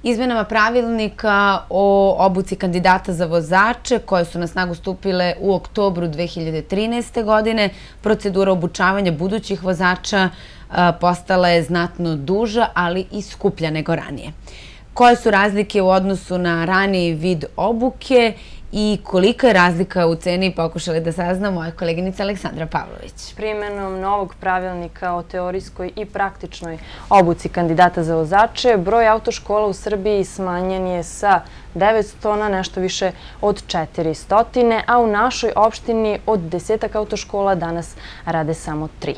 Izmenama pravilnika o obuci kandidata za vozače koje su na snagu stupile u oktobru 2013. godine, procedura obučavanja budućih vozača postala je znatno duža, ali i skuplja nego ranije. Koje su razlike u odnosu na raniji vid obuke i kolika je razlika u ceni pokušali da sazna moja koleginica Aleksandra Pavlović. Primenom novog pravilnika o teorijskoj i praktičnoj obuci kandidata za vozače, broj autoškola u Srbiji smanjen je sa 900 na nešto više od 400, a u našoj opštini od 10 autoškola danas rade samo 3.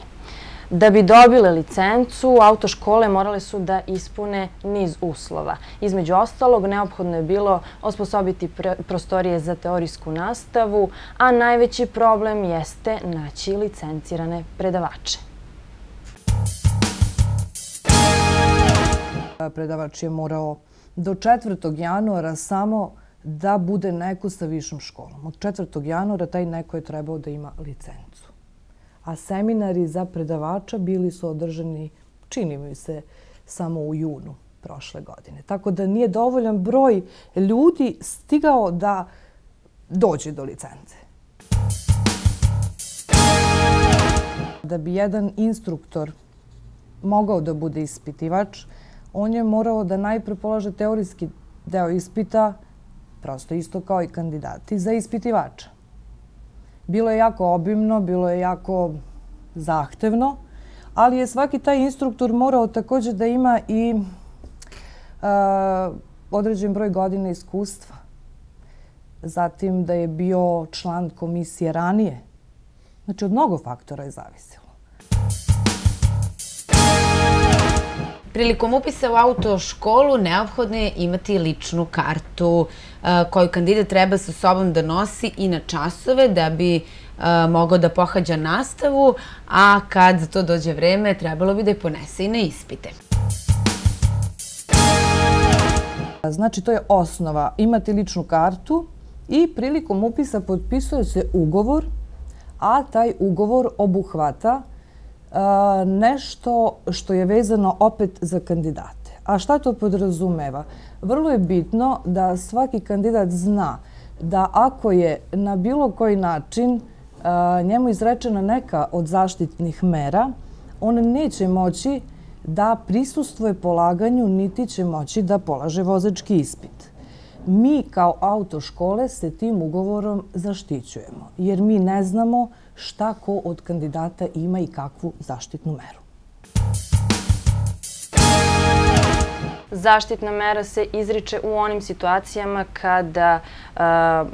Da bi dobile licencu, autoškole morale su da ispune niz uslova. Između ostalog, neophodno je bilo osposobiti prostorije za teorijsku nastavu, a najveći problem jeste naći licencirane predavače. Predavač je morao do 4. januara samo da bude neko sa višom školom. Od 4. januara taj neko je trebao da ima licencu. A seminari za predavača bili su održani, čini mi se, samo u junu prošle godine. Tako da nije dovoljan broj ljudi stigao da dođe do licence. Da bi jedan instruktor mogao da bude ispitivač, on je morao da najpre polaže teorijski deo ispita, prosto isto kao i kandidati za ispitivača. Bilo je jako obimno, bilo je jako zahtevno, ali je svaki taj instruktor morao također da ima i određen broj godina iskustva. Zatim da je bio član komisije ranije. Znači, od mnogo faktora je zavisilo. Prilikom upisa u autoškolu neophodno je imati ličnu kartu koju kandidat treba sa sobom da nosi i na časove da bi mogao da pohađa nastavu, a kad za to dođe vreme trebalo bi da je ponese i na ispite. Znači, to je osnova. Imati ličnu kartu i prilikom upisa potpisuje se ugovor, a taj ugovor obuhvata nešto što je vezano opet za kandidate. A šta to podrazumeva? Vrlo je bitno da svaki kandidat zna da ako je na bilo koji način njemu izrečena neka od zaštitnih mera, on neće moći da prisustvuje polaganju, niti će moći da polaže vozački ispit. Mi kao autoškole se tim ugovorom zaštićujemo, jer mi ne znamo šta ko od kandidata ima i kakvu zaštitnu meru. Zaštitna mera se izriče u onim situacijama kada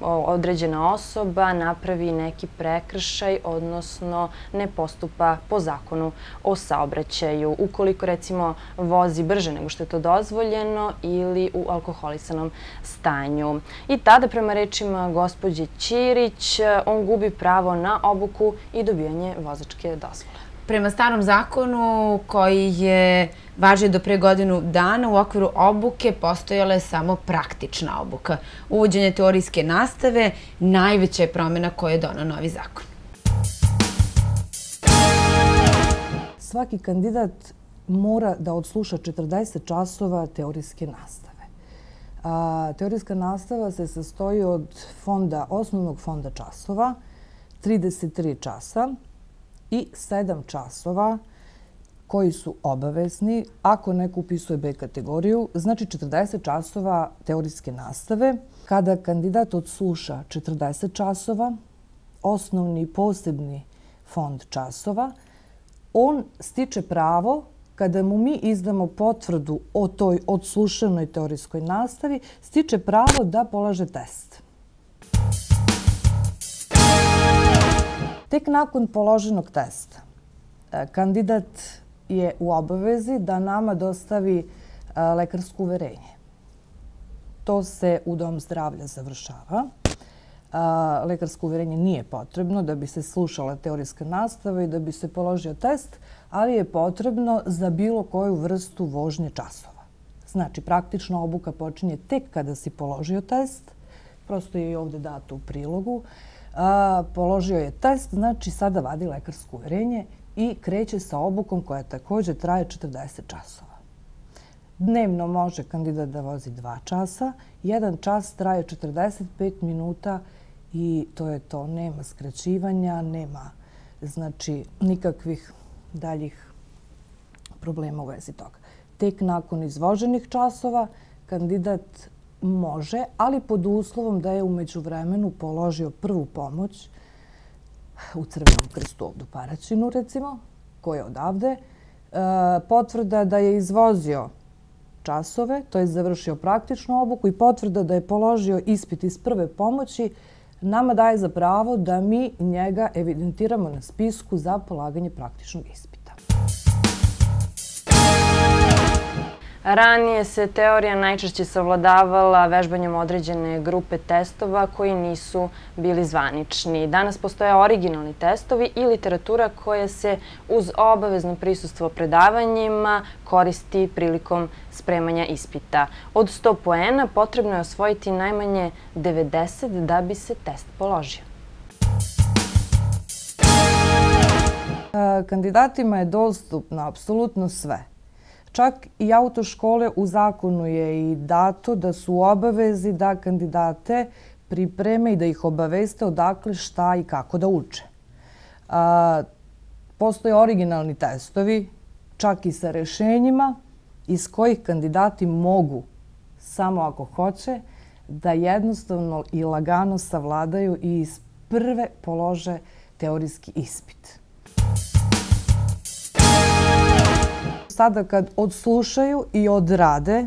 određena osoba napravi neki prekršaj, odnosno ne postupa po zakonu o saobraćaju. Ukoliko, recimo, vozi brže nego što je to dozvoljeno ili u alkoholisanom stanju. I tada, prema rečima gospođe Ćirić, on gubi pravo na obuku i dobijanje vozačke dozvole. Prema starom zakonu koji je važio do pre godinu dana, u okviru obuke postojala je samo praktična obuka. Uvođenje teorijske nastave najveća je promjena koju je doneo novi zakon. Svaki kandidat mora da odsluša 40 časova teorijske nastave. Teorijska nastava se sastoji od osnovnog fonda časova, 33 časa, i 7 časova koji su obavezni ako neko upisuje B kategoriju, znači 40 časova teorijske nastave. Kada kandidat odsluša 40 časova, osnovni i posebni fond časova, on stiče pravo, kada mu mi izdamo potvrdu o toj odslušanoj teorijskoj nastavi, stiče pravo da polaže test. Tek nakon položenog testa, kandidat je u obavezi da nama dostavi lekarsko uverenje. To se u Dom zdravlja završava. Lekarsko uverenje nije potrebno da bi se slušala teorijska nastava i da bi se položio test, ali je potrebno za bilo koju vrstu vožnje časova. Znači, praktična obuka počinje tek kada si položio test, prosto je i ovdje dato u prilogu. Položio je test, znači sada vadi lekarsko uverenje i kreće sa obukom koja također traje 40 časova. Dnevno može kandidat da vozi 2 časa. 1 čas traje 45 minuta i to je to. Nema skraćivanja, nema znači nikakvih daljih problema u vezi toga. Tek nakon izvoženih časova kandidat može, ali pod uslovom da je u međuvremenu položio prvu pomoć u Crvenom krstu ovdje u Paraćinu, recimo, koji je odavde, potvrda da je izvozio časove, to je završio praktičnu obuku i potvrda da je položio ispit iz prve pomoći, nama daje za pravo da mi njega evidentiramo na spisku za polaganje praktičnog ispita. Ranije se teorija najčešće savladavala vežbanjem određene grupe testova koji nisu bili zvanični. Danas postoje originalni testovi i literatura koja se uz obavezno prisustvo predavanjima koristi prilikom spremanja ispita. Od 100 poena potrebno je osvojiti najmanje 90 da bi se test položio. Kandidatima je dostupno apsolutno sve. Čak i autoškole u zakonu je i dato da su u obavezi da kandidate pripreme i da ih obaveste odakle, šta i kako da uče. Postoje originalni testovi, čak i sa rešenjima iz kojih kandidati mogu, samo ako hoće, da jednostavno i lagano savladaju i iz prve polože teorijski ispit. Sada kad odslušaju i odrade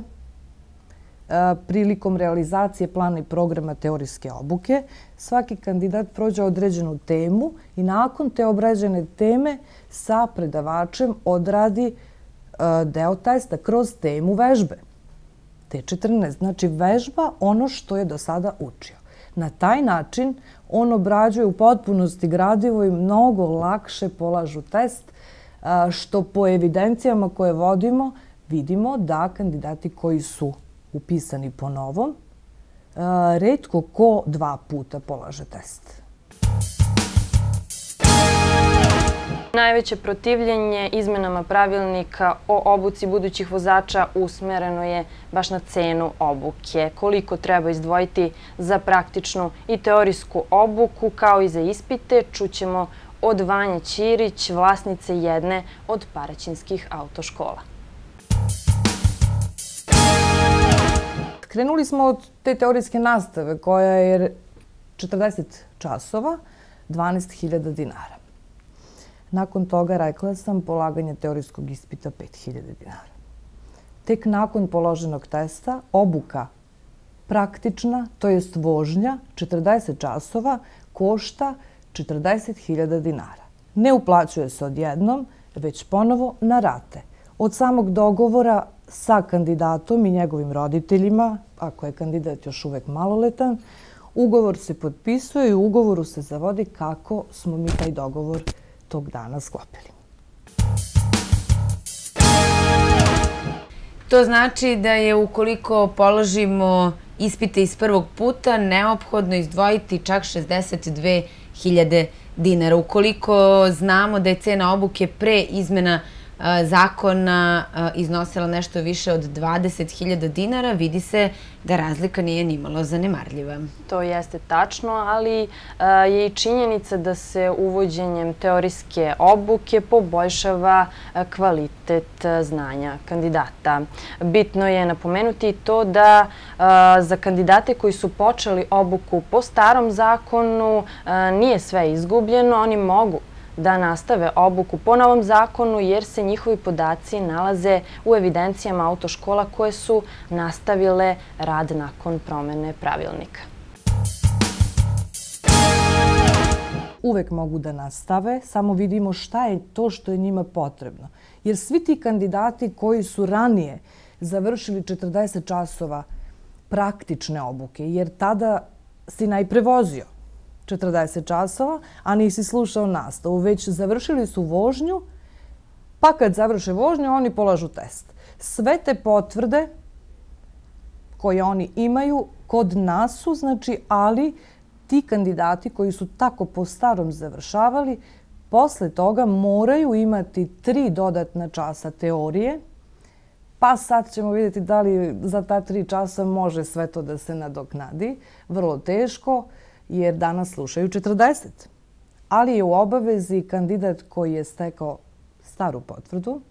prilikom realizacije plana i programa teorijske obuke, svaki kandidat prođe određenu temu i nakon te obrađene teme sa predavačem odradi deo testa kroz temu vežbe. T14, znači vežba ono što je do sada učio. Na taj način on obrađuje u potpunosti gradivo i mnogo lakše polažu test, što po evidencijama koje vodimo vidimo da kandidati koji su upisani po novom retko ko 2 puta polaže test. Najveće protivljenje izmenama pravilnika o obuci budućih vozača usmereno je baš na cenu obuke. Koliko treba izdvojiti za praktičnu i teorijsku obuku kao i za ispite, čućemo od Vanje Ćirić, vlasnice jedne od paraćinskih autoškola. Krenuli smo od te teorijske nastave koja je 40 časova, 12.000 dinara. Nakon toga, rekla sam, polaganje teorijskog ispita 5.000 dinara. Tek nakon položenog testa, obuka praktična, to jest vožnja, 40 časova, košta 40.000 dinara. Ne uplaćuje se odjednom, već ponovo na rate. Od samog dogovora sa kandidatom i njegovim roditeljima, ako je kandidat još uvek maloletan, ugovor se potpisuje i u ugovoru se zavodi kako smo mi taj dogovor tog dana sklopili. To znači da je ukoliko položimo ispite iz prvog puta neophodno izdvojiti čak 62.000 dinara. Ukoliko znamo da je cena obuke pre izmena zakona iznosila nešto više od 20.000 dinara, vidi se da razlika nije nimalo zanemarljiva. To jeste tačno, ali je i činjenica da se uvođenjem teorijske obuke poboljšava kvalitet znanja kandidata. Bitno je napomenuti to da za kandidate koji su počeli obuku po starom zakonu nije sve izgubljeno, oni mogu da nastave obuku po novom zakonu jer se njihovi podaci nalaze u evidencijama autoškola koje su nastavile rad nakon promene pravilnika. Uvek mogu da nastave, samo vidimo šta je to što je njima potrebno. Jer svi ti kandidati koji su ranije završili 40 časova praktične obuke, jer tada si najpre vozio 40 časova, a nisi slušao nastavu, već završili su vožnju, pa kad završe vožnju, oni polažu test. Sve te potvrde koje oni imaju kod nas su, znači, ali ti kandidati koji su tako po starom završavali, posle toga moraju imati 3 dodatna časa teorije, Pa sad ćemo vidjeti da li za ta 3 časa može sve to da se nadoknadi. Vrlo teško, jer danas slušaju 40. Ali je u obavezi kandidat koji je stekao staru potvrdu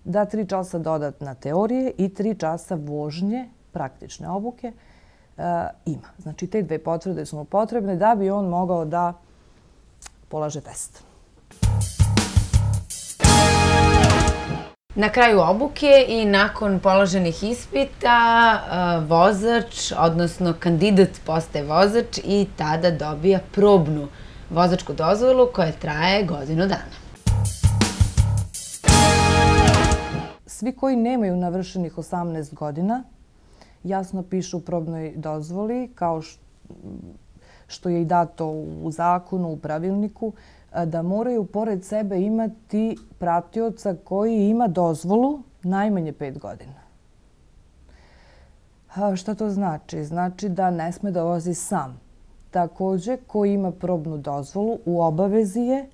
da 3 časa dodatna teorije i 3 časa vožnje, praktične obuke, ima. Znači, te 2 potvrde su mu potrebne da bi on mogao da polaže test. Na kraju obuke i nakon položenih ispita, vozač, odnosno kandidat postaje vozač i tada dobija probnu vozačku dozvolu koja traje godinu dana. Svi koji nemaju navršenih 18 godina jasno pišu u probnoj dozvoli, kao što je i dato u zakonu, u pravilniku, da moraju pored sebe imati pratioca koji ima dozvolu najmanje 5 godina. Šta to znači? Znači da ne sme da vozi sam. Također, ko ima probnu dozvolu, u obavezi je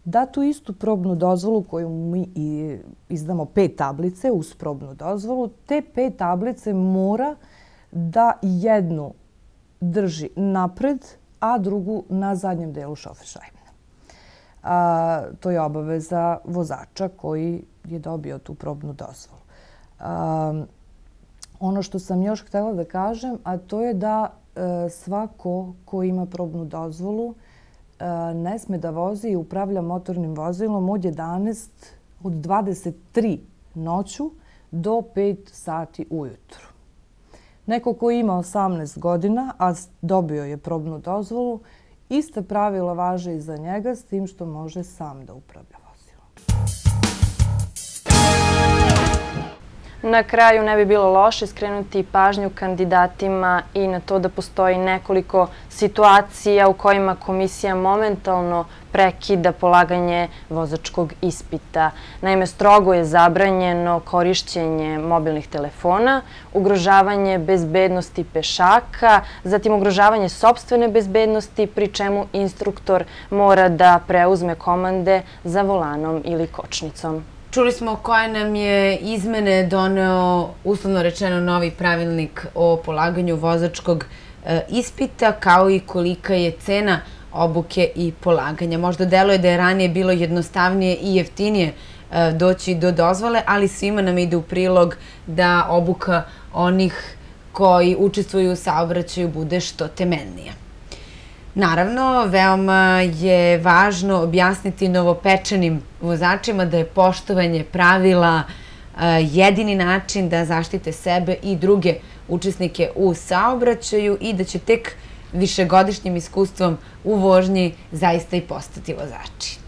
da tu istu probnu dozvolu koju mi izdamo 5 tablice uz probnu dozvolu, te 5 tablice mora da jednu drži napred, a drugu na zadnjem delu šoferšajbne. To je obaveza vozača koji je dobio tu probnu dozvolu. Ono što sam još htjela da kažem, a to je da svako ko ima probnu dozvolu ne sme da vozi i upravlja motornim vozilom od 23 noću do 5 sati ujutru. Neko ko ima 18 godina, a dobio je probnu dozvolu, ista pravila važe i za njega, s tim što može sam da upravlja vozilom. Na kraju ne bi bilo loše skrenuti pažnju kandidatima i na to da postoji nekoliko situacija u kojima komisija momentalno prekida polaganje vozačkog ispita. Naime, strogo je zabranjeno korišćenje mobilnih telefona, ugrožavanje bezbednosti pešaka, zatim ugrožavanje sopstvene bezbednosti, pri čemu instruktor mora da preuzme komande za volanom ili kočnicom. Čuli smo koje nam je izmene doneo, uslovno rečeno, novi pravilnik o polaganju vozačkog ispita, kao i kolika je cena obuke i polaganja. Možda deluje da je ranije bilo jednostavnije i jeftinije doći do dozvole, ali svima nam ide u prilog da obuka onih koji učestvuju u saobraćaju bude što temeljnija. Naravno, veoma je važno objasniti novopečenim vozačima da je poštovanje pravila jedini način da zaštite sebe i druge učesnike u saobraćaju i da će tek višegodišnjim iskustvom u vožnji zaista i postati vozači.